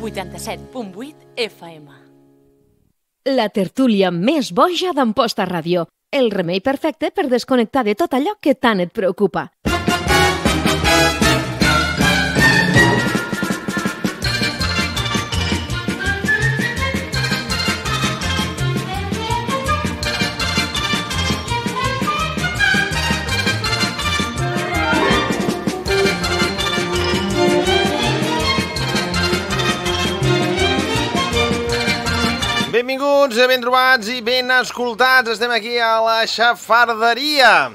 87.8 FM. La tertúlia més boja d'Amposta Ràdio. El remei perfecte per desconnectar de tot allò que tant et preocupa. Benvinguts, ben trobats i ben escoltats. Estem aquí a la xafarderia.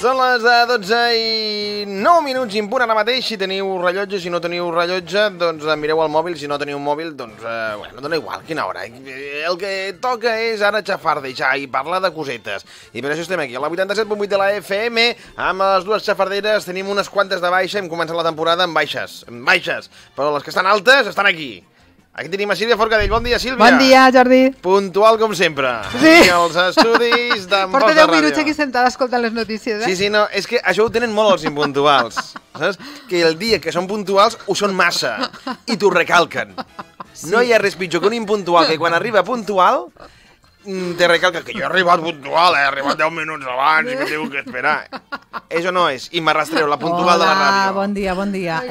Són les 12 i 9 minuts i en punt ara mateix. Si teniu rellotge, si no teniu rellotge, doncs mireu el mòbil. Si no teniu un mòbil, doncs, bueno, dona igual, quina hora. El que toca és ara xafardejar i parlar de cosetes. I per això estem aquí, a la 87.8 de la FM, amb les dues xafarderes. Tenim unes quantes de baixa, hem començat la temporada amb baixes, però les que estan altes estan aquí. Aquí tenim a Sílvia Forcadell. Bon dia, Sílvia. Bon dia, Jordi. Puntual com sempre. Sí. Aquí als estudis d'Amposta Ràdio. Porta 10 minuts aquí sentada escoltant les notícies, eh? Sí, no, és que això ho tenen molt els impuntuals. Saps? Que el dia que són puntuals ho són massa i t'ho recalquen. Sí. No hi ha res pitjor que un impuntual que quan arriba puntual te recalca que jo he arribat puntual, he arribat 10 minuts abans i que tinc que esperar. Això no és. I m'arrastreu, la puntual de la ràdio. Bon dia, bon dia.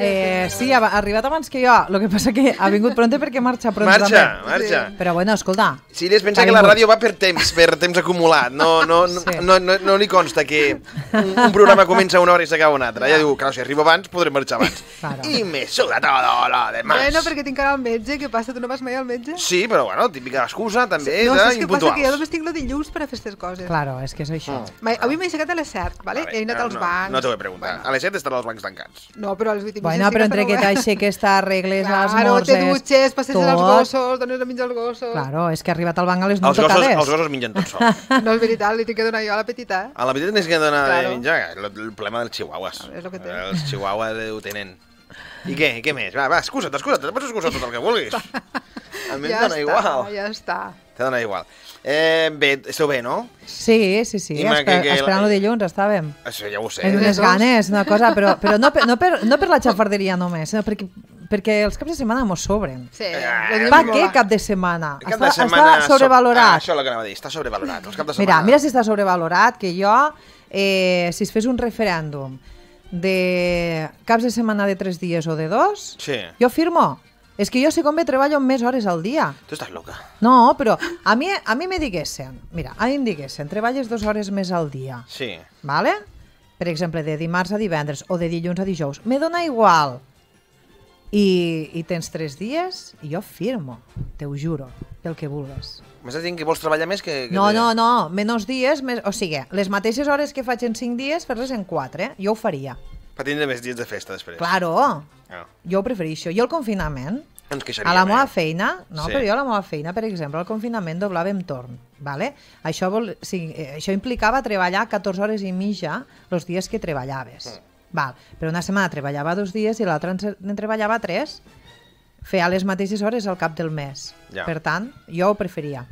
Sí, ha arribat abans que jo. Lo que passa que ha vingut pronte perquè marxa pronte. Marxa. Però bueno, escolta. Sí, es pensa que la ràdio va per temps acumulat. No li consta que un programa comença una hora i s'acaba una altra. Ja diu, clar, si arribo abans, podré marxar abans. Claro. I me suda todo lo demás. Bueno, perquè tinc ara al metge. Què passa? Tu no vas mai al metge? Sí, però bueno, típica excusa també no, d'impuntuals. Que jo només tinc el dilluns per a fer aquestes coses. Claro, és que és això. Avui m'he aixecat a les 7, ¿vale? He anat als bancs. No t'ho he preguntat. A les 7 estaran els bancs tancats. No, però a les 8 i mitja bueno, però entre que t'aixeques, t'arregles, esmorzes... Claro, te dutxes, passes als gossos, dones a menjar als gossos... Claro, és que ha arribat al banc a les 9 tocades. Els gossos mengen tots sols. No, és veritat, li tinc que donar jo a la petita. A la petita tens que donar de menjar. El problema dels chihuahuas. És el que té. Els chihuahuas ho tenen. I què més? Va, excusa't, te pots excusar tot el que vulguis. A mi em dona igual. Ja està. Te dona igual. Bé, esteu bé, no? Sí. Esperant el dilluns, estàvem. Això ja ho sé. És unes ganes, una cosa, però no per la xafarderia només, sinó perquè els caps de setmana mos sobren. Sí. Pa què cap de setmana? Està sobrevalorat. Això és el que anava a dir, està sobrevalorat. Els caps de setmana. Mira si està sobrevalorat, que jo, si es fes un referèndum de caps de setmana de 3 dies o de 2, jo firmo. És que jo, si convé, treballo més hores al dia. Tu estàs loca. No, però a mi me diguessen, treballes 2 hores més al dia. Sí. Vale? Per exemple, de dimarts a divendres o de dilluns a dijous. Me dona igual. I tens 3 dies i jo firmo, te ho juro, el que vulguis. M'estàs dient que vols treballar més que... No, menys dies, o sigui, les mateixes hores que faig en 5 dies, fer-les en 4, jo ho faria. Per tindre més dies de festa després. Claro, jo ho prefereixo. Jo el confinament, a la meva feina, però jo a la meva feina, per exemple, al confinament doblàvem torn, vale? Això implicava treballar 14 hores i mitja els dies que treballaves. Val. Però una setmana treballava 2 dies i l'altra en treballava 3. Feia les mateixes hores al cap del mes. Per tant, jo ho preferia.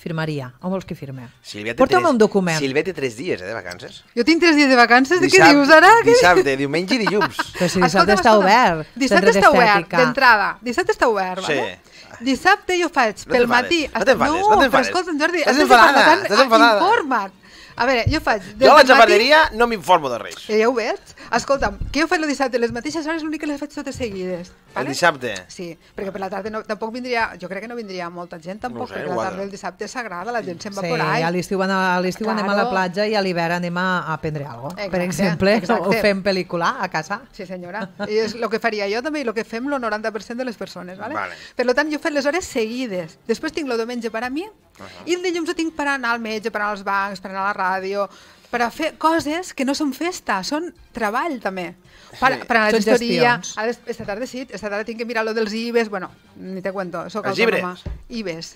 Firmaria. On vols que firme? Porta'm un document. Silvia té 3 dies de vacances. Jo tinc 3 dies de vacances? De què dius ara? Dissabte, diumenge i dilluns. Però si dissabte està obert. Dissabte està obert, d'entrada. Dissabte està obert, sí. Dissabte jo faig pel matí... No t'enfades, no t'enfades. Però escolta'm, Jordi, estàs enfadada. Informa't. A veure, jo faig... Jo a la xafarderia no m'informo de res. Ja ho veig. Escolta'm, que jo faig el dissabte les mateixes hores, l'únic que les faig totes seguides. El dissabte? Sí, perquè per la tarda tampoc vindria... Jo crec que no vindria molta gent, tampoc, perquè la tarda el dissabte és sagrada, la gent se'n va por ahí. Sí, a l'estiu anem a la platja i a l'hivern anem a prendre alguna cosa. Per exemple, o fem pel·lícula a casa. Sí, senyora. I és el que faria jo també i el que fem el 90% de les persones, ¿vale? Per tant, jo faig les hores seguides. Després tinc el diumenge per a mi i el dilluns ho tinc per anar al metge, per anar als bancs, per anar a la ràdio, per a fer coses que no són festa, són treball també. Per a la gestoria. Esta tarda tinc que mirar lo dels IBES, bueno, ni te cuento. Els llibres? IBES.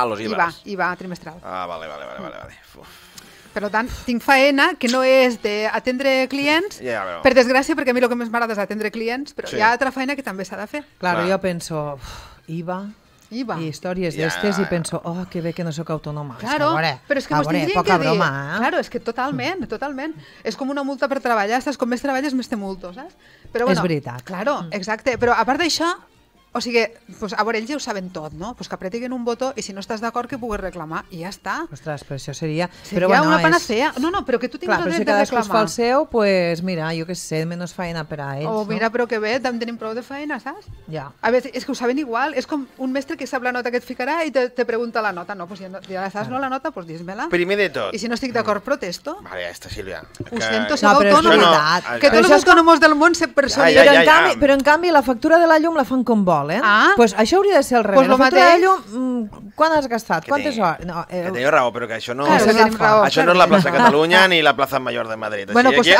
Los IBAs. IVA trimestral. Vale. Per tant, tinc faena que no és d'atendre clients, per desgràcia, perquè a mi el que més m'agrada és atendre clients, però hi ha altra feina que també s'ha de fer. Clar, jo penso, IVA... i històries d'estes i penso, oh, que bé que no sóc autònoma. Claro, però és que mos tindrien que dir... Claro, és que totalment. És com una multa per treballar, saps? Com més treballes, més te multo, saps? És veritat. Claro, exacte. Però a part d'això, o sigui, a veure, ells ja ho saben tot, no? Que apretiguen un botó i si no estàs d'acord que puguis reclamar i ja està. Ostres, però això seria... Seria una panacea. No, però que tu tinguis el dret de reclamar. Clar, però si cadascú fa el seu, doncs mira, jo què sé, menys feina per a ells. Mira, però que bé, també tenim prou de feina, saps? Ja. A veure, és que ho saben igual. És com un mestre que sap la nota que et ficarà i te pregunta la nota. No, doncs ja saps, no, la nota, doncs dis-me-la. Primer de tot. I si no estic d'acord, protesto. Vale, ja està, Sílvia. Ho sento, sóc autònoma. Que tots els autònoms del món se personen. Però en canvi la factura de la llum la fan com volen. Doncs això hauria de ser al revés. La factura de llum, quan has gastat? Quantes hores? Que teniu raó, però que això no és la plaça Catalunya ni la plaça Major de Madrid. Bueno, doncs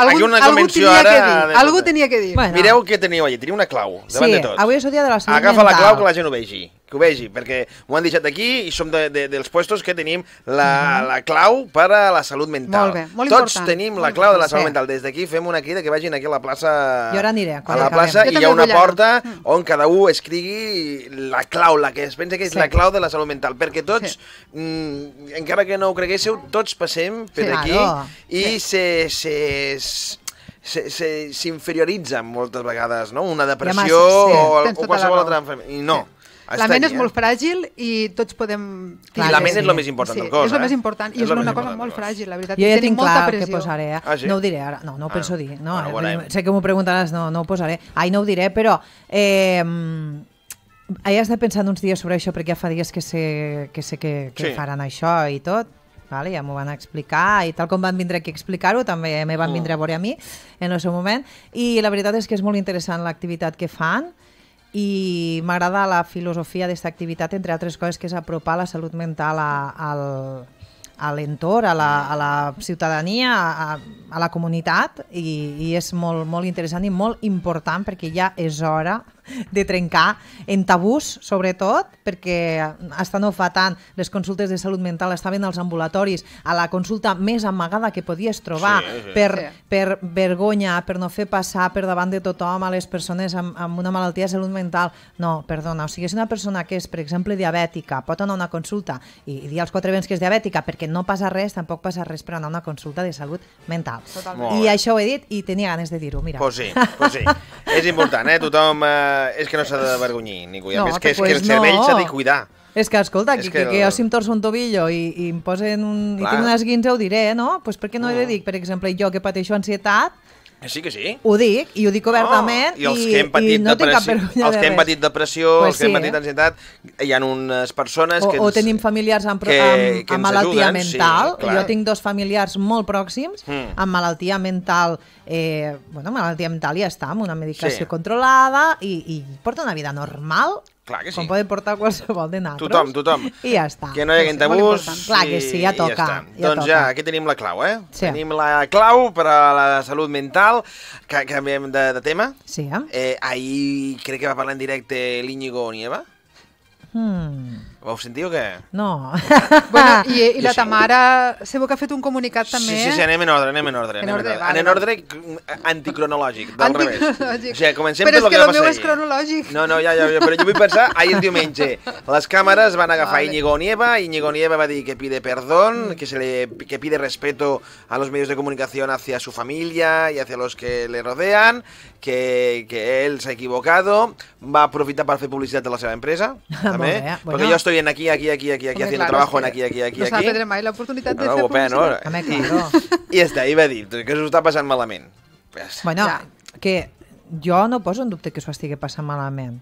algú tenia que dir. Mireu què teniu allà, teniu una clau davant de tots. Sí, avui és el dia de la salut mental. Agafa la clau que la gent ho vegi. Que ho vegi, perquè m'ho han deixat aquí i som dels puestos que tenim la clau per a la salut mental. Molt bé, molt important. Tots tenim la clau de la salut mental. Des d'aquí fem una crida que vagin aquí a la plaça. Jo ara aniré. A la plaça i hi ha una porta on cada un escrigui la clau, la que es pensa que és la clau de la salut mental. Perquè tots, encara que no ho creguéssiu, tots passem per aquí i s'inferioritza moltes vegades, no? Una depressió o qualsevol altra malaltia. I no. La ment és molt fràgil i tots podem... I la ment és el més important del cos, és el més important i és una cosa molt fràgil, la veritat. Jo ja tinc clar què posaré, no ho diré ara, no ho penso dir, sé que m'ho preguntaràs, no ho posaré, no ho diré, però he estat pensant uns dies sobre això perquè ja fa dies que sé que faran això i tot, ja m'ho van explicar i tal com van vindre aquí a explicar-ho també me van vindre a veure a mi en el seu moment i la veritat és que és molt interessant l'activitat que fan i m'agrada la filosofia d'aquesta activitat, entre altres coses, que és apropar la salut mental a l'entorn, a la ciutadania, a la comunitat i és molt, molt interessant i molt important perquè ja és hora de trencar en tabús, sobretot, perquè hasta no fa tant les consultes de salut mental estaven als ambulatoris, a la consulta més amagada que podies trobar per vergonya, per no fer passar per davant de tothom a les persones amb una malaltia de salut mental. No, perdona, o sigui, si una persona que és, per exemple, diabètica, pot anar a una consulta i dir als 4 vents que és diabètica perquè no passa res, tampoc passa res per anar a una consulta de salut mental. I això ho he dit i tenia ganes de dir-ho, mira. Pues sí. És important, tothom... És que no s'ha d'avergonyir ningú. A més, que el cervell s'ha de cuidar. És que, escolta, que jo si em torço un tobillo i em posen i tinc una esguince ho diré, no? Doncs per què no he de dir, per exemple, jo que pateixo ansietat, sí que sí. Ho dic, i ho dic obertament i els que hem patit depressió, els que hem patit depressió, els que hem patit ansietat, hi ha unes persones que... O tenim familiars amb malaltia mental. Jo tinc 2 familiars molt pròxims amb malaltia mental. Malaltia mental ja està, amb una medicació controlada i porta una vida normal, com poden portar qualsevol de nosaltres. Tothom. I ja està. Que no hi hagi tabús. Clar que sí, ja toca. Doncs ja, aquí tenim la clau, Tenim la clau per a la salut mental. Canviem de tema. Sí. Ahir crec que va parlar en directe l'Íñigo Nieva. Ho sentiu o què? No. I la Tamara sabeu que ha fet un comunicat també. Sí, anem en ordre. Anem en ordre anticronològic, del revés. O sigui, comencem per lo que va passar ahir. Però és que el meu és cronològic. No, però jo vull pensar, ahir diumenge, les càmeres van agafar Íñigo Nieva va dir que pide perdón, que pide respeto a los medios de comunicación hacia su familia y hacia los que le rodean, que él se ha equivocado, va aprofitar per fer publicitat de la seva empresa, també, perquè jo estoy aquí, haciendo trabajo en aquí. No s'ha de mai l'oportunitat de fer publicitat. I ja està, i va dir que s'ho està passant malament. Bueno, que jo no poso en dubte que s'ho estigui passant malament.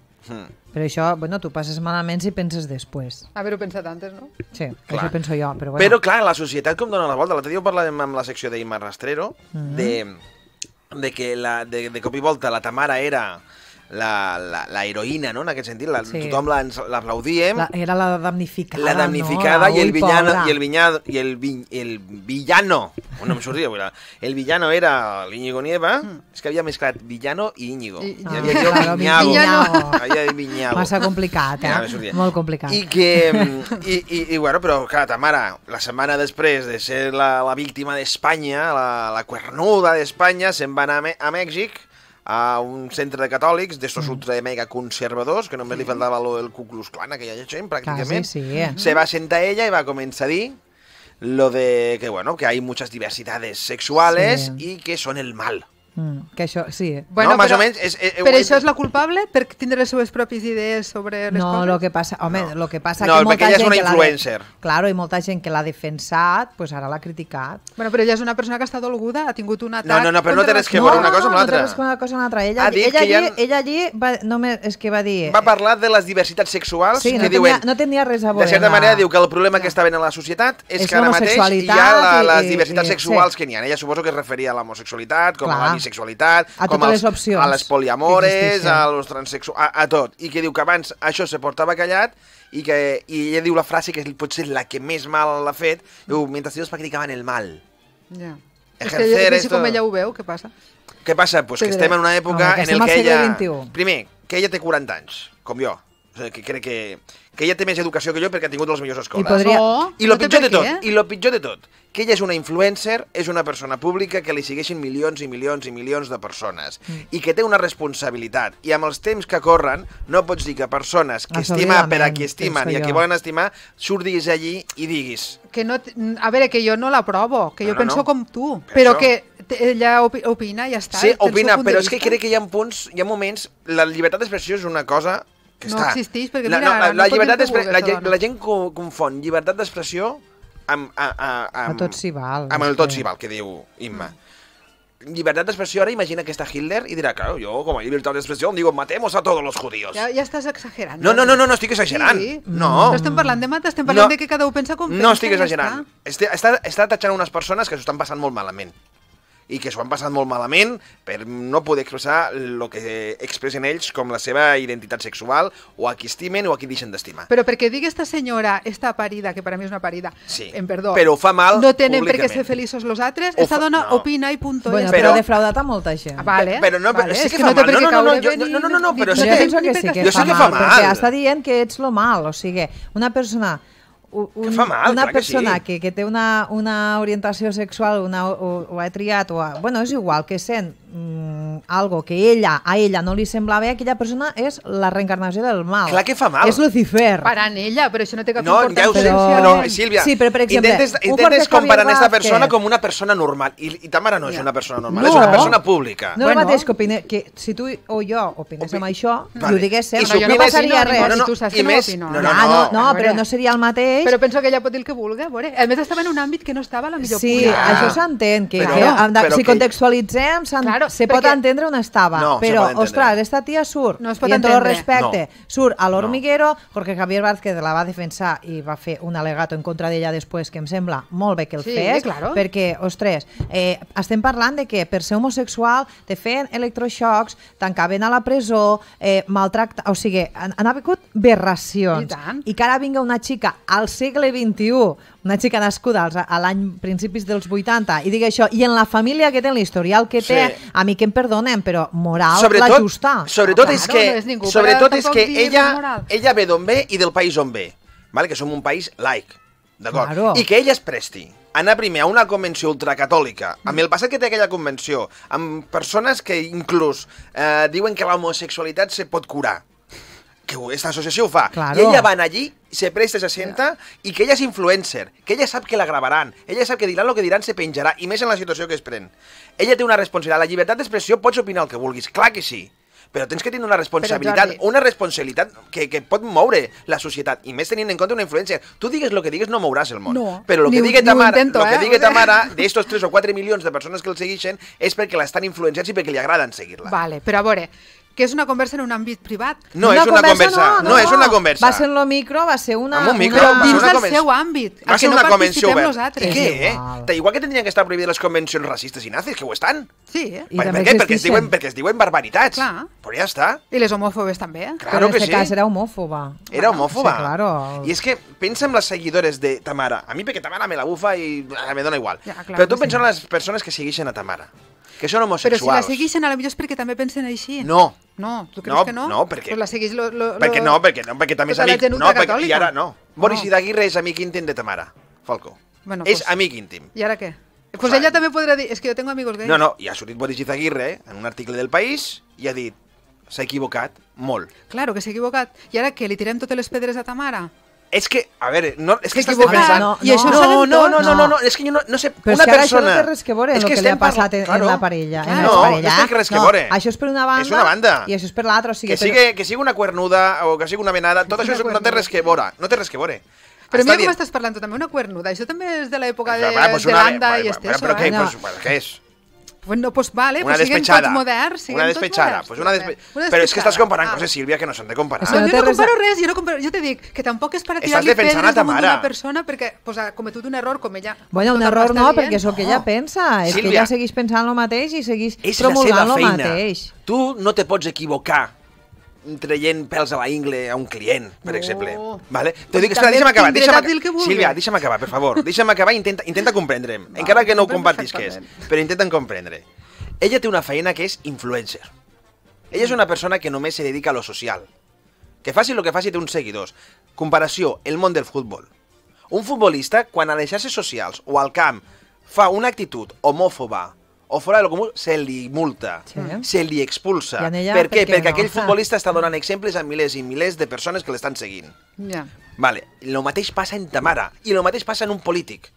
Però això, tu passes malament si penses després. Haver-ho pensat antes, no? Sí, això penso jo. Però clar, la societat com dona la volta. L'altre dia ho parlàvem amb la secció d'Imma Rastrero, de que de cop i volta la Tamara era la heroïna, no?, en aquest sentit, tothom l'aplaudíem. Era la damnificada, la damnificada, no? el villano, no em sortia, el villano era l'Íñigo Nieva, és que havia mesclat villano i Íñigo. Havia dit Viñago. Massa complicat, molt complicat. I bueno, però clar, Tamara, la setmana després de ser la víctima d'Espanya, la cuernuda d'Espanya, se'n va anar a Mèxic a un centre de catòlics, d'estos ultra mega conservadors, que només li faltava el Ku Klux Klan, aquella gent, pràcticament. Se va sentar ella i va començar a dir lo de que, bueno, que hay muchas diversidades sexuales y que son el mal. Que això, sí. Bueno, no, més però, o menys... però això és la culpable per tindre les seves pròpies idees sobre les coses? No, lo que passa... Home, lo que passa no, que molta perquè ella gent és una influencer. Claro, i molta gent que l'ha defensat, pues ara l'ha criticat. Bueno, però ella és una persona que està dolguda, ha tingut un atac... No, però no té res que veure una cosa amb l'altra. No té res que veure una cosa amb l'altra. Ella allí només és que va dir... Va parlar de les diversitats sexuals que diuen... no tenia res a veure. De certa manera diu que el problema que està havent a la societat és que ara mateix hi ha les diversitats sexuals que n'hi ha. Ella suposo que es referia a l'homosexualitat, com a la bisexualitat, com a les poliamores, a los transexuals, a tot. I que diu que abans això se portava callat i ella diu la frase que potser la que més mal l'ha fet, diu, mientras ellos practicaban el mal. Ja. És que com ella ho veu, què passa? Què passa? Pues que estem en una època en què ella... Primer, que ella té 40 anys, com jo. O sigui, que crec que ella té més educació que jo perquè ha tingut les millors escoles. I el pitjor de tot, que ella és una influencer, és una persona pública que li segueixen milions i milions i milions de persones i que té una responsabilitat. I amb els temps que corren no pots dir que persones que estima per a qui estimen i a qui volen estimar surtis allí i diguis... A veure, que jo no l'aprovo, que jo penso com tu, però que ella opina i ja està. Sí, opina, però és que crec que hi ha punts, hi ha moments... La llibertat d'expressió és una cosa... No existeix, perquè mira... La gent confon llibertat d'expressió amb tot s'hi val. Amb el tot s'hi val, que diu Imma. Llibertat d'expressió, ara imagina que està Hitler i dirà, claro, yo como libertad de expresión digo, matemos a todos los judíos. Ja estàs exagerant. No estic exagerant. No. No estem parlant de matar, estem parlant de que cada un pensa com pensa. No estic exagerant. Està tatxant unes persones que s'ho estan passant molt malament. I que s'ho han passat molt malament per no poder expressar el que expressen ells com la seva identitat sexual o a qui estimen o a qui deixen d'estimar. Però perquè digui esta senyora, esta parida, que per a mi és una parida, perdó, però ho fa mal no tenen per què ser feliços los altres, esta dona opina i punto. Bueno, però ha defraudat a molta gent. Vale. Però sí que fa mal. No, però sí que penso que sí que fa mal, perquè està dient que ets lo mal, o sigui, una persona... Una persona que té una orientació sexual ho ha triat, bueno, és igual, que sent algo que a ella no li sembla bé, aquella persona és la reencarnació del mal. Clar que fa mal. És Lucifer. Parant ella, però això no té cap importància. No, ja ho sé, Sílvia, sí, però per exemple, intentes comparar aquesta persona com una persona normal, i Tamara no és una persona normal, és una persona pública. No el mateix que si tu o jo opinéssim això, i ho diguéssim, no passaria res. No, però no seria el mateix. Però penso que ella pot dir el que vulgui, a més estava en un àmbit que no estava a la millor punt. Sí, això s'entén, que si contextualitzem se pot entendre on estava, però, ostres, esta tia surt, i en tot el respecte, surt a l'Hormiguero, Jorge Javier Vázquez la va defensar i va fer un alegato en contra d'ella després, que em sembla molt bé que el fes, perquè, ostres, estem parlant de que per ser homosexual te feien electroxocs, tancaven a la presó, maltractar, o sigui, han hagut aberracions, i que ara vinga una xica al segle XXI, una xica nascuda a l'any principis dels 80, i digui això, i en la família que té, l'historial que té, a mi que em perdonen, però moral la justa. Sobretot és que ella ve d'on ve i del país on ve, que som un país laic, d'acord? I que ella es presti a anar primer a una convenció ultracatòlica, amb el passat que té aquella convenció, amb persones que inclús diuen que l'homosexualitat se pot curar, que aquesta associació ho fa, i ella va allí, se presta, se senta, i que ella és influencer, que ella sap que la gravaran, ella sap que diran el que diran, se penjarà, i més en la situació que es pren. Ella té una responsabilitat, la llibertat d'expressió pots opinar el que vulguis, clar que sí, però tens que tenir una responsabilitat que pot moure la societat, i més tenint en compte una influència. Tu digues el que digues, no mouràs el món. Però el que digui Tamara, d'estos 3 o 4 milions de persones que el segueixen, és perquè l'estan influenciats i perquè li agraden seguir-la. Vale, però a veure, que és una conversa en un àmbit privat. No és una conversa. Va ser en lo micro, va ser una... Dins del seu àmbit. Va ser una convenció oberta. I què, Igual que tindrien que estar prohibides les convencions racistes i nazis, que ho estan. Sí, Per què? Perquè es diuen barbaritats. Però ja està. I les homòfobes també. Però en aquest cas era homòfoba. Era homòfoba. I és que pensa en les seguidores de Tamara. A mi perquè Tamara me la bufa i me dona igual. Però tu pensa en les persones que segueixen a Tamara, que són homosexuals. Però si la segueixen, potser és perquè també pensen així. No. No, tu creus que no? No, perquè... Pues la segueix perquè també és amic. No, perquè i ara no. Boris Izaguirre és amic íntim de Tamara Falcó. És amic íntim. I ara què? Pues ella també podrà dir, és que jo tengo amigos gays. No, i ha sortit Boris Izaguirre en un article del País i ha dit, s'ha equivocat molt. Claro que s'ha equivocat. I ara què, li tirem totes les pedres a Tamara? És que, a veure, no, és que estàs equivocat. defensant... I això ho sabem tots. No, és que jo no sé, però una és que persona... això no té res que veure amb el que li ha passat en la parella. No té res que veure. Això és per una banda, és una banda. I això és per l'altra. Que sigui una cuernuda o que sigui una venada, tot això no té res que veure. No té res que veure. Però mira com estàs parlant tu també, una cuernuda. Això també és de l'època de Landa i Esteso. Però què és? Bueno, pues vale, una pues despechada. Tots moderns, una despechada. Pues una Però és que estàs comparant coses, Sílvia, que no s'han de comparar. No, jo no comparo res, jo te dic que tampoc és per tirar-li pedres damunt d'una persona perquè ha cometut un error com ella. Bueno, un error no, perquè és el que ella pensa. És que ella segueix pensant el mateix i segueix promulgant el mateix. Tu no te pots equivocar traient pèls a la ingle a un client, per exemple. Vale? T'ho dic, espera, deixa'm acabar. Sílvia, deixa'm acabar, per favor. Deixa'm acabar i intenta comprendre'm. Encara que no ho compartisques, però intenten comprendre. Ella té una feina que és influencer. Ella és una persona que només se dedica a lo social. Que faci el que faci té uns seguidors. Comparació, el món del futbol. Un futbolista, quan a les xarxes socials o al camp fa una actitud homòfoba o fora de lo comú, se li multa, se li expulsa. Per què? Perquè aquell futbolista està donant exemples a milers i milers de persones que l'estan seguint. Vale, el mateix passa en Tamara i el mateix passa en un polític.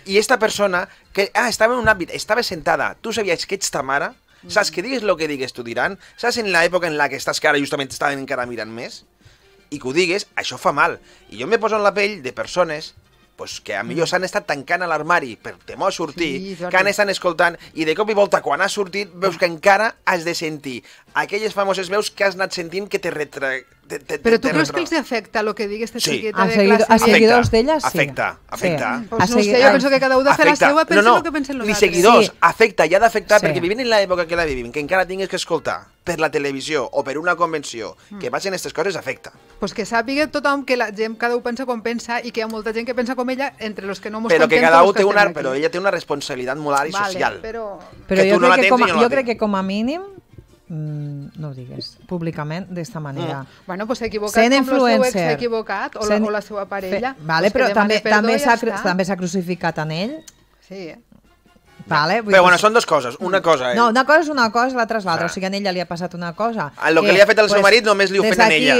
I esta persona, que estava en un àmbit, estava sentada, tu sabies que ets Tamara, saps que digues el que digues t'ho diran, saps en l'època en la que estàs que ara justament estaven encara mirant més, i que ho digues, això fa mal. I jo me poso en la pell de persones que a millor s'han estat tancant a l'armari per temor a sortir, que han estat escoltant, i de cop i volta, quan has sortit, veus que encara has de sentir aquelles famoses veus que has anat sentint que te Però tu creus que els afecta el que digui aquesta xiqueta de classe? A seguidors d'ella, sí. Afecta. No sé, jo penso que cada un de fer la seva, pensa el que pensen els altres. Ni seguidors, afecta, i ha d'afectar, perquè vivint en l'època que la vivim, que encara tingues que escoltar per la televisió o per una convenció que passen aquestes coses, afecta. Pues que sàpiga tothom que la gent, cada un pensa com pensa, i que hi ha molta gent que pensa com ella, entre los que no mos contem. Però ella té una responsabilitat moral i social. Però jo crec que com a mínim no ho digues públicament d'esta manera. Bueno, pues s'ha equivocat com el seu ex s'ha equivocat, o la seva parella. Vale, però també s'ha crucificat en ell. Sí, Vale, però bueno, són dues coses. Una cosa... No, una cosa és una cosa, l'altra és l'altra. O sigui, a ella li ha passat una cosa. El que li ha fet el seu marit només li ho fet a ella.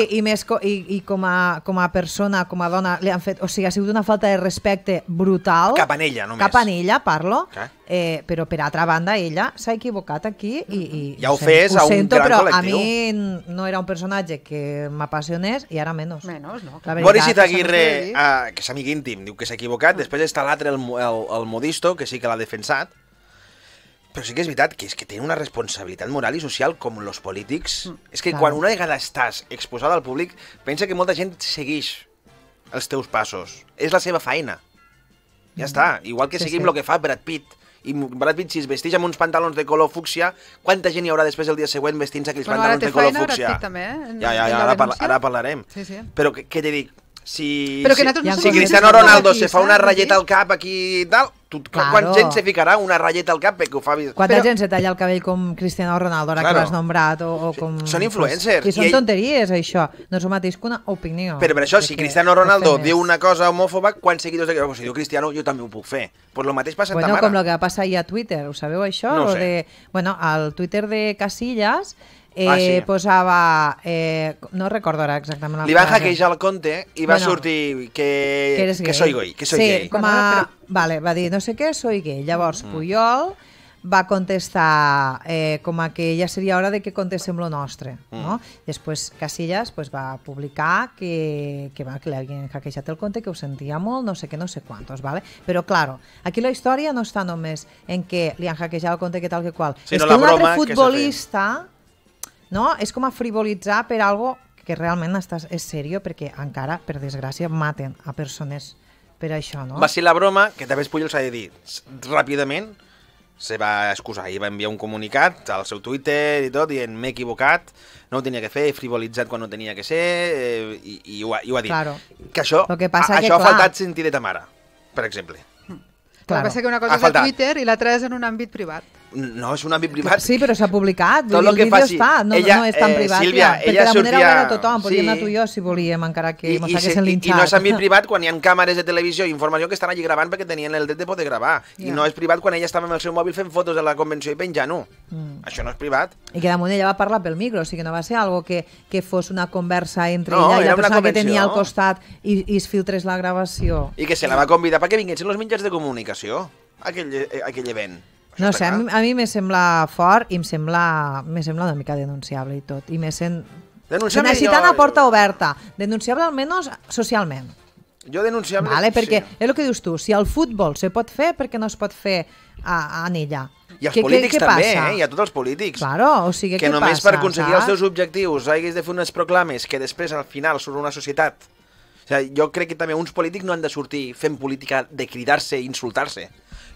I com a persona, com a dona, li han fet... O sigui, ha sigut una falta de respecte brutal. Cap a ella, només. Cap a ella, parlo. Però, per altra banda, ella s'ha equivocat aquí i ja ho fes a un gran col·lectiu. A mi no era un personatge que m'apassionés i ara menys. Menys, no. Boris Izaguirre, que és amic íntim, diu que s'ha equivocat. Després està l'altre, el Modisto, que sí que l'ha defensat. Però sí que és veritat que tenen una responsabilitat moral i social com els polítics. És que quan una vegada estàs exposada al públic, pensa que molta gent segueix els teus passos. És la seva feina. Ja està. Igual que seguim el que fa Brad Pitt. I Brad Pitt, si es vesteix amb uns pantalons de color fúcsia, quanta gent hi haurà després el dia següent vestint-se aquells pantalons de color fúcsia? Ara parlarem. Però què t'he dit? Si Cristiano Ronaldo se fa una ratlleta al cap aquí i tal, quanta gent se ficarà una ratlleta al cap perquè ho fa... Quanta gent se talla el cabell com Cristiano Ronaldo, ara que l'has nombrat, o com... Són influencers. I són tonteries, això. No és el mateix que una opinió. Però per això, si Cristiano Ronaldo diu una cosa homòfoba, quants seguidors de... Si diu Cristiano, jo també ho puc fer. Pues lo mateix passa a Tamara. Com el que va passar ahir a Twitter, ho sabeu això? No ho sé. Bueno, al Twitter de Casillas... posava, no recordo ara exactament la frase. Li van hackejar el compte i va sortir que soy gay. Sí, vale, va dir no sé què, soy gay. Llavors Puyol va contestar com a que ja seria hora de que contestem lo nostre, no? Després Casillas va publicar que li havien hackejat el compte, que ho sentia molt, no sé què, no sé quantos, vale? Però, claro, aquí la història no està només en que li han hackejat el compte que tal que qual. És que un altre futbolista... No? És com a frivolitzar per algo que realment és seriós, perquè encara, per desgràcia, maten a persones per això, no? Va ser la broma, que també Puyol s'ha de dir ràpidament, se va excusar i va enviar un comunicat al seu Twitter i tot, dient m'he equivocat, no ho tenia que fer, he frivolitzat quan no tenia que ser, i ho ha dit. Claro. Que això ha faltat sentir de Tamara, per exemple. El que passa que una cosa és a Twitter i l'altra és en un àmbit privat. No, és un àmbit privat. Sí, però s'ha publicat, Tot el vídeo està, no és tan privat. Sílvia, perquè la manera ho era tothom, podíem anar tu i jo si volíem, encara que mos haguessin linxat. I no és àmbit privat quan hi ha càmeres de televisió i informació que estan allí gravant perquè tenien el dret de poder gravar. I no és privat quan ella estava amb el seu mòbil fent fotos de la convenció i penjant-ho. Això no és privat. I que damunt ella va parlar pel micro, o sigui que no va ser algo que fos una conversa entre ella i la persona que tenia al costat i es filtrés la gravació. I que se la va convidar perquè vinguessin els mitjans de comunicació a aquell event. No sé, a mi me sembla fort i me sembla una mica denunciable i tot. I me sent... Necessitant a porta oberta. Denunciable almenys socialment. Jo denunciable... Vale, perquè és el que dius tu, si el futbol se pot fer, per què no es pot fer en ella? I els polítics també, i a tots els polítics. Claro, o sigui, què passa? Que només per aconseguir els teus objectius haguis de fer unes proclames que després al final surt una societat. O sigui, jo crec que també uns polítics no han de sortir fent política de cridar-se i insultar-se.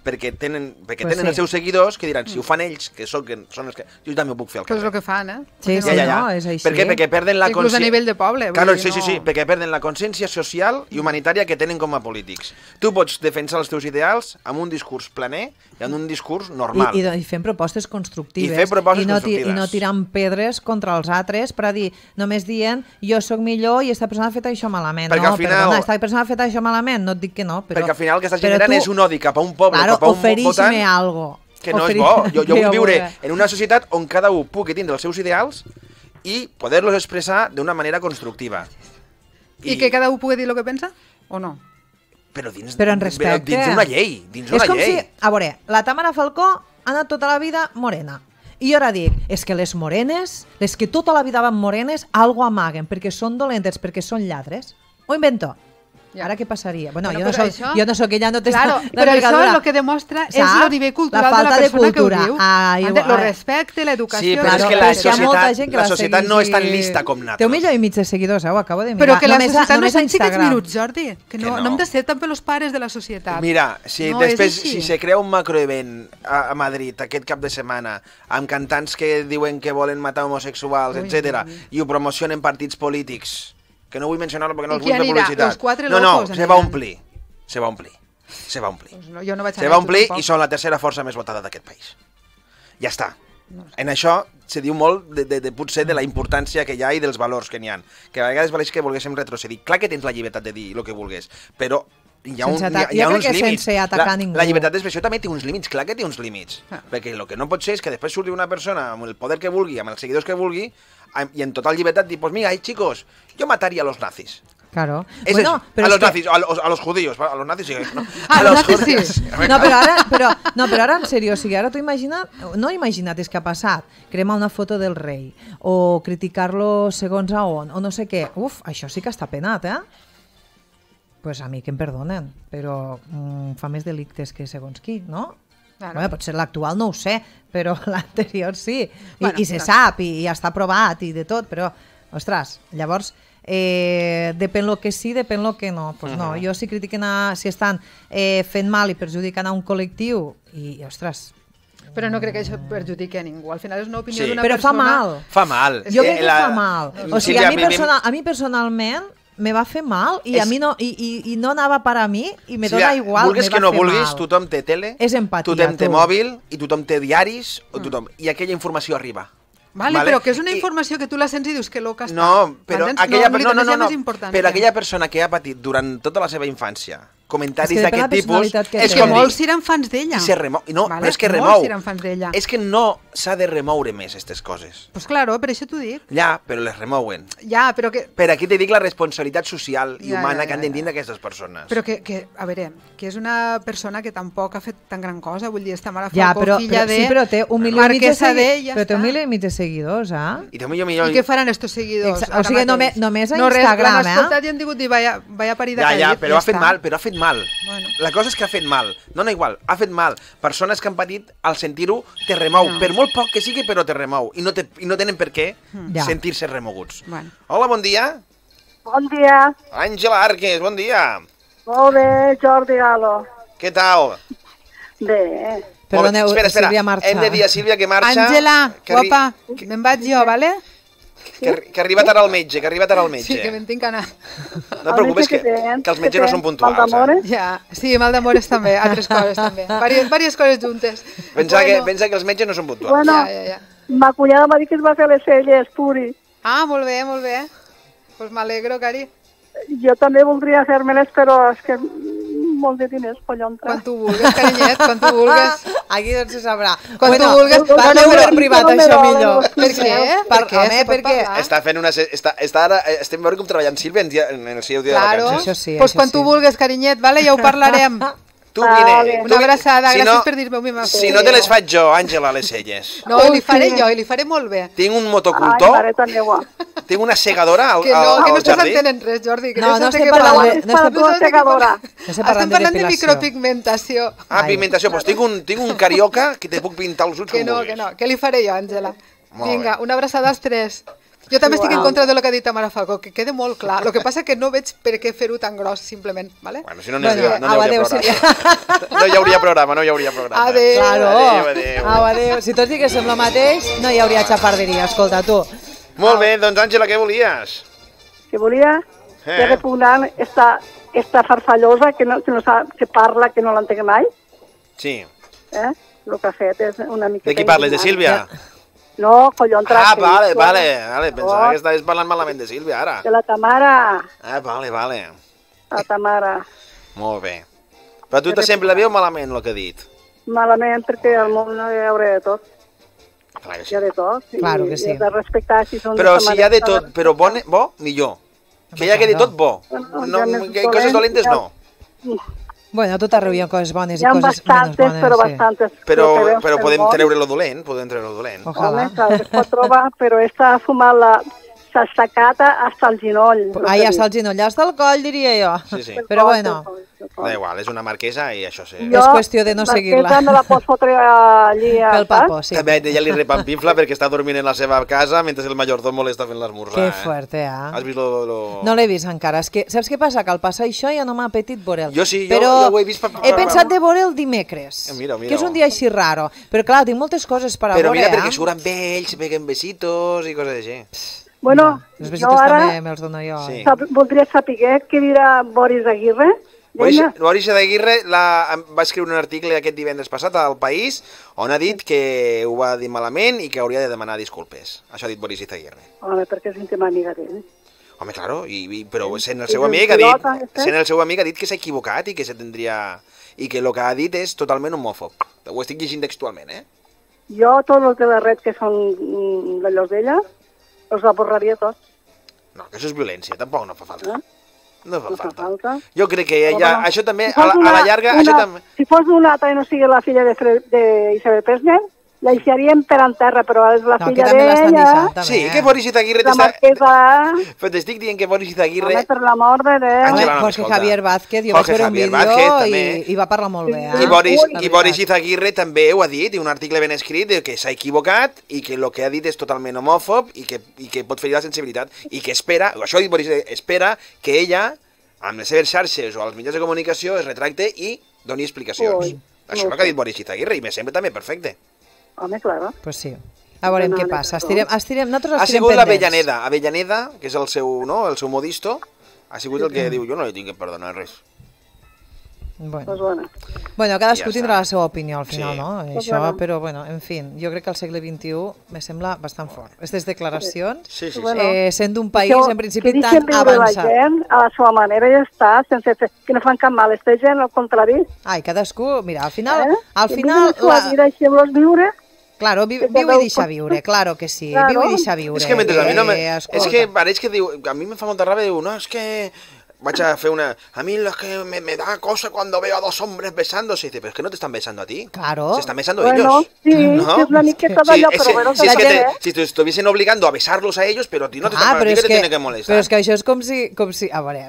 Perquè tenen els seus seguidors que diran, si ho fan ells, que són els que... Jo també ho puc fer al carrer. Però és el que fan, Sí, no, és així. Per què? Perquè perden la inclús a nivell de poble. Claro, sí, perquè perden la consciència social i humanitària que tenen com a polítics. Tu pots defensar els teus ideals amb un discurs planer i amb un discurs normal. I fent propostes constructives. I no tirant pedres contra els altres per a dir, només dient, jo sóc millor i esta persona ha fet això malament. Perquè al final... esta persona ha fet això malament, no et dic que no, però... Perquè al final el que estàs generant és un odi cap a un poble, cap a un votant... algo. Que no és bo. Jo vull viure en una societat on cada un pugui tindre els seus ideals i poder-los expressar d'una manera constructiva. I que cada un pugui dir el que pensa, o no? Però dins d'una llei. És com si, a veure, la Tamara Falcó ha anat tota la vida morena. I jo ara dic, és que les morenes, les que tota la vida van morenes, algo amaguen, perquè són dolentes, perquè són lladres. Ho invento. Ara què passaria? Bueno, jo no soc ella, no t'està... Claro, però això el que demostra és el nivell cultural de la persona que ho diu. El respecte, l'educació... Sí, però és que la societat no és tan lista com nosaltres. Té 1,5 milió de seguidors, ho acabo de mirar. Però que la societat no s'enxi aquests minuts, Jordi. Que no hem de ser també els pares de la societat. Mira, si després se crea un macroevent a Madrid aquest cap de setmana amb cantants que diuen que volen matar homosexuals, etc. i ho promocionen partits polítics... que no vull mencionar-lo perquè no els vull fer publicitat. No, se va omplir. Se va omplir. Se va omplir i són la tercera força més votada d'aquest país. Ja està. En això se diu molt potser de la importància que hi ha i dels valors que n'hi ha. Que a vegades valeix que volguéssim retrocedir. Clar que tens la llibertat de dir el que vulguis, però hi ha uns límits. La llibertat d'expressió també té uns límits, clar que té uns límits. Perquè el que no pot ser és que després surti una persona amb el poder que vulgui, amb els seguidors que vulgui, i en total llibertat dir, pues mira, chicos, yo mataría a los nazis. Claro. Bueno, a los nazis, a los judíos, a los nazis sí. A los nazis sí. No, però ara en sèrio, o sigui, ara t'ho imagina't, no imagina't és que ha passat, cremar una foto del rei, o criticar-lo segons a on, o no sé què. Uf, això sí que està penat, Pues a mi que em perdonen, però fa més delictes que segons qui, no? Bueno, potser l'actual no ho sé, però l'anterior sí. I se sap, i ja està aprovat, i de tot, però, ostres, llavors, depèn lo que sí, depèn lo que no. Pues no, jo si critiquen, si estan fent mal i perjudicant a un col·lectiu, i ostres... Però no crec que això perjudiqui a ningú. Al final és una opinió d'una persona... Però fa mal. Fa mal. Jo crec que fa mal. O sigui, a mi personalment... me va fer mal i a mi no, i no anava per a mi i me dona igual, vulguis que no vulguis, tothom té tele, és empatia, tothom té mòbil i tothom té diaris, i aquella informació arriba. Vale, però que és una informació que tu la sents i dius que loca està. No, però aquella persona que ha patit durant tota la seva infància comentaris d'aquest tipus... És que molts eren fans d'ella. I se remou. No, però és que remou. És que no s'ha de remoure més aquestes coses. Pues claro, per això t'ho dic. Ja, però les remouen. Ja, però que... Per aquí te dic la responsabilitat social i humana que han d'entendre aquestes persones. Però que, a veure, que és una persona que tampoc ha fet tan gran cosa, vull dir, està Tamara Falcó, filla de... Sí, però té 1,5 milió de seguidors, I té 1 milió... I què faran estos seguidors? O sigui, només a Instagram, l'han escoltat i han digut, vaya parir de calle. Ja, però ha fet mal, La cosa és que ha fet mal, no igual, ha fet mal. Persones que han patit, al sentir-ho, te remou. Per molt poc que sigui, però te remou. I no tenen per què sentir-se remoguts. Hola, bon dia. Bon dia. Àngela Arques, bon dia. Molt bé, Jordi Galo. Què tal? Bé. Perdoneu, espera, Sílvia marxa. Hem de dir a Sílvia que marxa. Àngela, guapa, me'n vaig jo, vale? Que ha arribat ara el metge, Sí, que me'n tinc que anar. No et preocupes, que els metges no són puntuals. Ja, sí, mal d'amores també, altres coses també. Vàries coses juntes. Pensa que els metges no són puntuals. Bueno, ma cunyada m'ha dit que es va fer les celles, puri. Ah, molt bé, molt bé. Pues m'alegro, Cari. Jo també voldria fer-me-les, però és que molt de diners, collontra. Quan tu vulgues, carinyet, quan tu vulgues. Aquí no se sabrà. Quan tu vulgues. Parleu per privat, això millor. Per què? Home, per què? Està fent una... Estem veure com treballant Sílvia en el seu dia de vacances. Això sí. Doncs quan tu vulgues, carinyet, vale? Ja ho parlarem. Tu vine. Una abraçada, gràcies per dir-me mi mà. Si no te les faig jo, Àngela, les celles. No, li faré jo, i li faré molt bé. Tinc un motocultor. Ai, mareta meva. Tinc una segadora al jardí. Que no estàs jardí. entenent res, Jordi. No estem parlant de Estem parlant de micropigmentació. Ah, pigmentació. Doncs tinc un carioca que te puc pintar els ulls com vulguis. Que no, que li faré jo, Àngela. Vinga, una abraçada als tres. Jo també estic en contra de lo que ha dit Tamara Falcó, que quede molt clar. El que passa que no veig per què fer-ho tan gros, simplement, ¿vale? Bueno, si no hi hauria programa. No hi hauria programa. Adéu. Claro. Adéu. Si tots diguéssim el mateix, no hi hauria xafarderia, escolta, tu. Molt bé, doncs, Àngela, què volies? Que volia repugnar esta farfallosa que parla, que no l'entenc mai. Sí. El que ha fet és una mica... De qui parles, de Sílvia? No, collontra. Ah, vale. Pensava que estaves parlant malament de Sílvia, ara. De la Tamara. Ah, vale. La Tamara. Molt bé. Però tu te sempre la veu malament, el que ha dit? Malament, perquè al món no hi haurà de tot. Clar que sí. Hi ha de tot. Claro que sí. I de respectar si són... Però si hi ha de tot, però bo, millor. Que hi hagi de tot, bo. Coses dolentes, no. Bueno, a tot arreu hi ha coses bones i hi ha coses bastantes, menys bones. però bastantes. Però podem treure-lo dolent, Home, clar, es pot trobar, però està fumant la sacata hasta el ginoll. Ah, ja està el ginoll, ja està el coll, diria jo. Sí. Però bueno. Da igual, és una marquesa i això sí. És qüestió de no seguir-la. Marquesa me la pots fotre allí pel papo, sí. També ella li repampinfla perquè està dormint en la seva casa mentre el mayordomo li està fent l'esmorzar. Que fuerte, Has vist lo... No l'he vist encara. És que, saps què passa? Que al passar això ja no m'ha apetit veure'l. Jo sí, però jo ho he vist... he pensat de veure'l dimecres. Mira. Que és un dia així raro. Però clar, tinc moltes coses per a veure. Però mira, perquè surt amb ells, se peguen besitos i coses així. Bueno, els besitos també me'ls dono jo. Sí. Voldria saber què dirà Boris Aguirre. Boris Aguirre va escriure un article aquest divendres passat al País on ha dit que ho va dir malament i que hauria de demanar disculpes. Això ha dit Boris Aguirre. Home, perquè és íntima amiga d'ell. Home, claro, però sent el seu amic ha dit que s'ha equivocat i que i que el que ha dit és totalment homòfob. Ho estic llegint textualment, Jo, tots els de la red que són d'allò d'ella, els la borraria tots. No, que això és violència, tampoc no fa falta. No fa falta. Jo crec que això també, a la llarga... Si fos una altra i no sigui la filla d'Isabel Presley, la deixaríem per en terra, però és la filla d'ella... Sí, que Boris Izaguirre... La marquesa... Però t'estic dient que Boris Izaguirre... Home, per l'amor de Déu... Jorge Javier Vázquez, jo vaig veure un vídeo i va parlar molt bé. I Boris Izaguirre també ho ha dit, i un article ben escrit, que s'ha equivocat i que el que ha dit és totalment homòfob i que pot ferir la sensibilitat i que espera, això ha dit Boris, espera que ella, amb les seves xarxes o als mitjans de comunicació, es retracte i doni explicacions. Això és el que ha dit Boris Izaguirre i me sembla també perfecte. Home, claro. Pues sí. A veurem què passa. Nosaltres estirem ha sigut l'Avellaneda, que és el seu modisto, ha sigut el que diu, jo no li tinc que perdonar res. Bueno, cadascú tindrà la seva opinió al final, no? Això, però, bueno, en fi, jo crec que al segle XXI me sembla bastant fort. Aquestes declaracions, sent d'un país, en principi, tan avançat. Que deixen viure la gent a la seva manera i ja està, sense que no fan cap mal. Aquesta gent, al contrari. Ai, cadascú, mira, al final... La vida, deixem-los viure. Claro, viu i deixa viure, claro que sí, viu i deixa viure. És que mentre a mi no me... És que pareix que diu... A mi me fa molta ràbia, diu, no, és que... Vaig a fer una... A mí lo que me da cosa cuando veo a dos hombres besándose. Dice, pero es que no te están besando a ti. Claro. Se están besando ellos. Sí, ¿no? Es una miqueta d'allò, però bueno... Si te estuviesen obligando a besarlos a ellos, pero a ti no te están... ¿Qué te tiene que molestar? Però és que això és com si... A veure...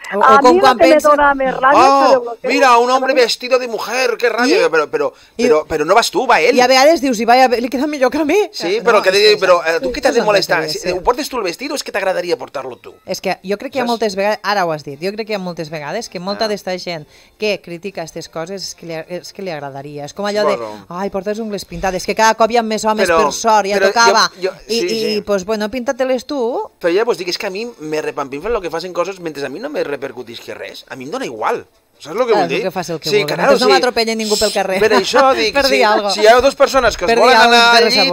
A mí lo que me dona més ràbia... Mira, un hombre vestido de mujer, qué rabia. Pero no vas tú, va él. I a vegades dius, li queda millor que a mi. Sí, però tu què t'has de molestar? Ho portes tu el vestido o és que t'agradaria portar-lo tu? És que jo crec que hi ha moltes vegades... Ara ho has dit. Jo crec que hi ha moltes vegades que molta d'esta gent que critica aquestes coses és que li agradaria. És com allò de, ai, porta les ungles pintades, que cada cop hi ha més homes per sort, ja tocava. I, pues, bueno, pinta-te-les tu. Però ja vos dic, és que a mi me repampinfen el que facen coses mentre a mi no me repercutisc res. A mi em dona igual. Saps el que vull dir? Que faci el que vulgui. Claro, no m'atropella ningú pel carrer. Per això dic, si hi ha dues persones que es volen anar al llit,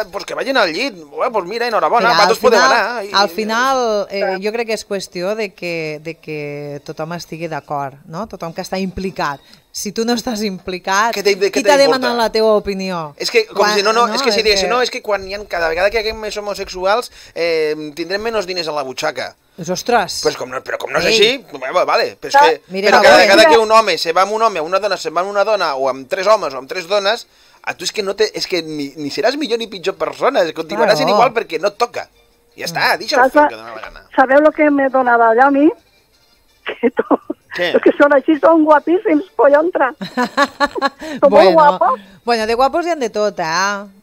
pues que vagin al llit. Pues mira, enhorabona, vosaltres podeu anar. Al final, jo crec que és qüestió de que tothom estigui d'acord, no? Tothom que està implicat. Si tu no estàs implicat, qui t'ha demanat la teva opinió? És que, com si és que si diguessin, no, és que cada vegada que haguem més homosexuals tindrem menys diners a la butxaca. Ostres! Però com no és així, vale. Però cada vegada que un home se va amb un home, una dona se va amb una dona, o amb 3 homes o amb 3 dones, a tu és que ni seràs millor ni pitjor persona, continuaràs sent igual perquè no et toca. Ja està, deixa'l fer el que dona la gana. Sabeu el que m'he donat allà a mi? Els que són així són guapíssims, collontra. Són molt guapos. Bueno, de guapos hi ha de tot,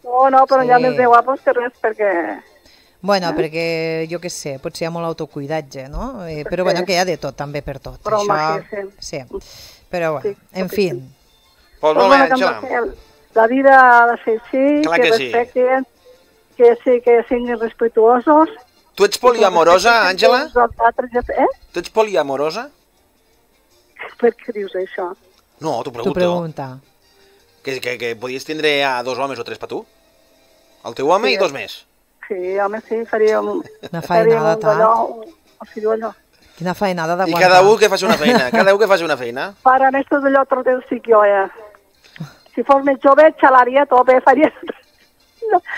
No, però hi ha més de guapos que res, perquè... Bueno, perquè, jo què sé, potser hi ha molt autocuidatge, no? Però bueno, que hi ha de tot, també per tot. Però home, sí. Però bueno, en fi. Pues molt bé, Àngela. La vida ha de ser així, que respectin, que siguin respetuosos. Tu ets poliamorosa, Àngela? Tu ets poliamorosa? Per què dius això? No, t'ho pregunto. T'ho pregunta. Que podies tindre a 2 homes o 3 per tu? El teu home i 2 més? Sí, home, sí, faríem... Una feinada tant. Quina feinada d'aguantar. I cada un que faci una feina. Para esto de l'altre del sí jo, Si fos més jove, xalaria tot, faria...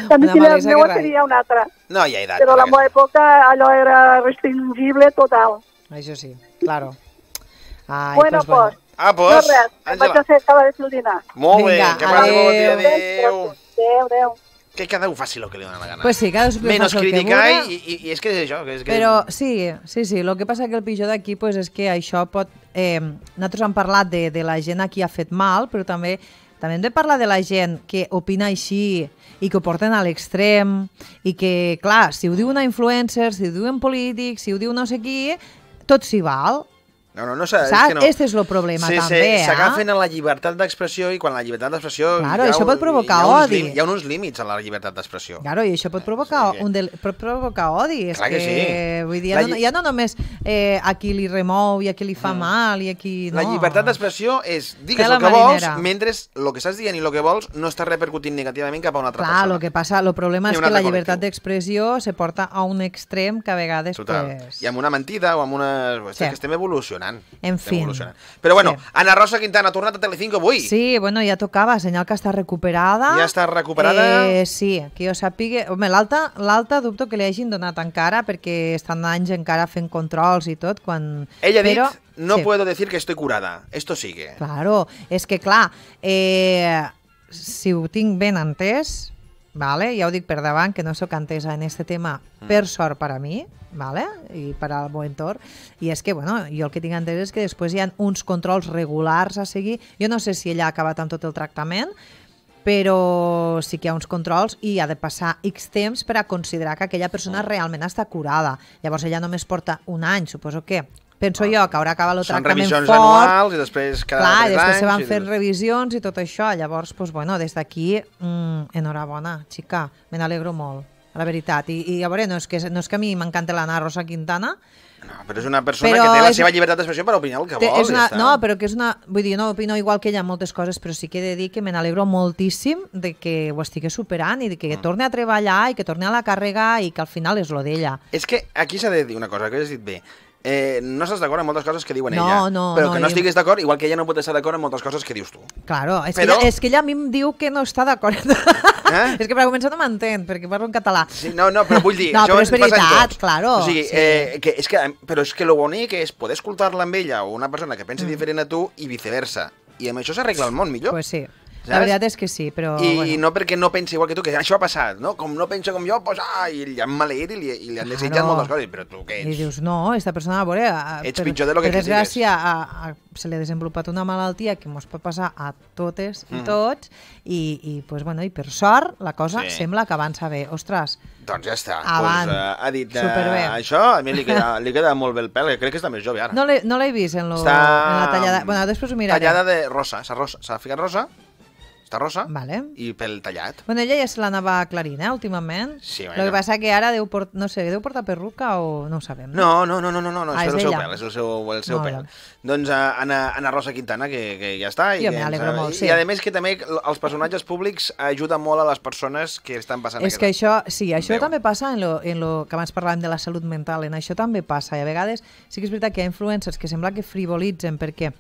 També si la meva seria una altra. No hi ha edat. Però a la meva època allò era restringible total. Això sí, claro. Bueno, pues. Pues, no res, em vaig a fer acabar de fer el dinar. Molt bé, que passi bon dia, adéu. Adéu. Que cada un faci el que li dona la gana. Pues sí, cada un menos criticar i és que és això. Però sí, el que passa que el pitjor d'aquí pues, és que això pot... nosaltres hem parlat de la gent a qui ha fet mal, però també hem de parlar de la gent que opina així i que ho porten a l'extrem i que, clar, si ho diu una influencer, si ho diuen polítics, si ho diu no sé qui, tot s'hi val. No, saps? Este és el problema, també, s'agafen a la llibertat d'expressió i quan la llibertat d'expressió... Claro, això pot provocar odi. Hi ha uns límits a la llibertat d'expressió. Claro, i això pot provocar odi. Clar que sí. Vull dir, ja no només a qui li remou i a qui li fa mal i a qui... La llibertat d'expressió és digues el que vols, mentre el que estàs dient i el que vols no està repercutint negativament cap a una altra persona. Clar, el problema és que la llibertat d'expressió se porta a un extrem que a vegades... I amb una mentida o amb una... que estem evolucionant. En fi. Però bueno, Ana Rosa Quintana ha tornat a Telecinco avui. Sí, bueno, ja tocava, senyal que està recuperada. Ja està recuperada? Sí, que jo sàpiga... Home, l'alta dubto que li hagin donat encara, perquè estan anys encara fent controls i tot, quan... Ella ha dit, no puedo decir que estoy curada, esto sigue. Claro, és que clar, si ho tinc ben entès, vale? Ja ho dic per davant, que no sóc entesa en este tema, per sort per a mi, vale? I per al meu entorn, i és que, bueno, jo el que tinc entès és que després hi ha uns controls regulars a seguir. Jo no sé si ella ha acabat amb tot el tractament, però sí que hi ha uns controls i ha de passar X temps per a considerar que aquella persona realment està curada. Llavors ella només porta un any, suposo que... Penso jo que haurà acabat el tractament fort. Són revisions anuals i després cada 3 anys. Clar, després se van fer revisions i tot això. Llavors, doncs, bueno, des d'aquí, enhorabona, xica, me n'alegro molt, la veritat. I a veure, no és que a mi m'encanta l'Anna Rosa Quintana, no, però és una persona que té la seva llibertat d'expressió per opinar el que vol. No, però que és una... Vull dir, no opino igual que ella en moltes coses, però sí que he de dir que me n'alegro moltíssim de que ho estigui superant i de que torni a treballar i que torni a la càrrega i que al final és lo d'ella. És que aquí s'ha de dir una cosa, que has dit bé. No estàs d'acord amb moltes coses que diuen ella, però que no estiguis d'acord, igual que ella no pot estar d'acord amb moltes coses que dius tu. Claro, és que ella a mi em diu que no està d'acord. És que per començar no m'entén, perquè parlo en català. Sí, no, però vull dir, no, però és veritat, claro. O sigui, però és que lo bonic és poder escoltar-la amb ella o una persona que pensa diferent a tu i viceversa. I amb això s'arregla el món millor. Pues sí. La veritat és que sí, però... I no perquè no pensi igual que tu, que això ha passat, no? Com no pensa com jo, doncs, i li han maleït i li han desitjat moltes coses, però tu què ets? I dius, no, esta persona, a veure... Ets pitjor de lo que critiques. Per desgràcia, se li ha desenvolupat una malaltia que mos pot passar a totes i tots, i per sort la cosa sembla que avança bé. Ostres, doncs ja està. Ha dit això, a mi li queda molt bé el pèl, crec que està més jove ara. No l'he vist en la tallada. Bueno, després ho miraré. Tallada de rosa, s'ha ficat rosa, està rosa, i pel tallat. Bueno, ella ja se l'anava aclarint, últimament. Sí, bueno. El que passa que ara deu portar perruca o no ho sabem. No, és el seu pèl, és el seu pèl. Doncs Ana Rosa Quintana, que ja està. Jo m'alegro molt, sí. I a més que també els personatges públics ajuden molt a les persones que estan passant és que això, sí, això també passa en lo que abans parlàvem de la salut mental, en això també passa, i a vegades sí que és veritat que hi ha influencers que sembla que frivolitzen perquè...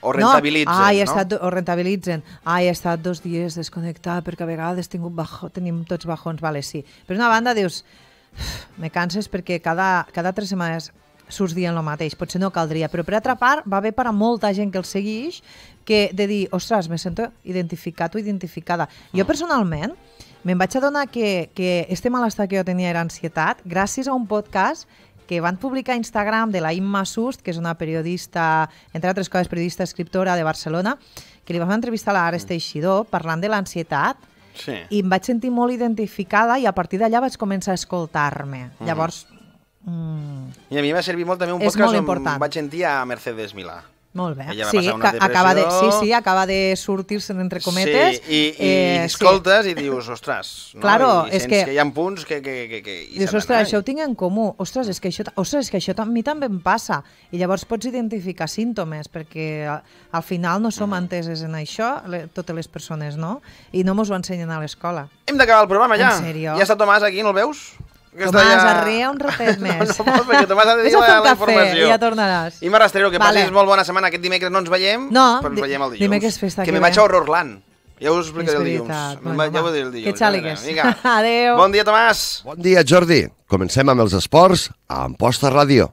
O rentabilitzen, no? O rentabilitzen. He estat 2 dies desconnectat perquè a vegades tenim tots bajons, vale, sí. Per una banda dius, me canses perquè cada 3 setmanes surts dient el mateix, potser no caldria, però per altra part va bé per a molta gent que el segueix que de dir, ostres, me sento identificat o identificada. Jo personalment me'n vaig adonar que este malestar que jo tenia era ansietat gràcies a un podcast que van publicar a Instagram de la Imma Sust, que és una periodista, entre altres coses, periodista escriptora de Barcelona, que li va fer una entrevista a l'Ares Teixidor parlant de l'ansietat, i em vaig sentir molt identificada i a partir d'allà vaig començar a escoltar-me. Llavors... I a mi m'ha servit molt també un podcast on vaig sentir a Mercedes Milà. Molt bé. Sí, acaba de sortir-se'n entre cometes. Sí, i escoltes i dius, ostres, claro, i sents que hi ha punts que dius, ostres, això ho tinc en comú. Ostres, és que això a mi també em passa. I llavors pots identificar símptomes, perquè al final no som enteses en això, totes les persones, no? I no mos ho ensenyen a l'escola. Hem d'acabar el programa ja. En sèrio? Ja està Tomàs aquí, no el veus? Tomàs, arria un ratet més. No pots, perquè Tomàs ha de dir la informació. I ja tornaràs. Imma Rastrero, que passis molt bona setmana. Aquest dimecres no ens veiem, però ens veiem el dilluns. Dimecres festa. Que me vaig a Horrorland. Ja us ho explicaré el dilluns. Ja ho diré el dilluns. Que xàligues. Adéu. Bon dia, Tomàs. Bon dia, Jordi. Comencem amb els esports a Amposta Ràdio.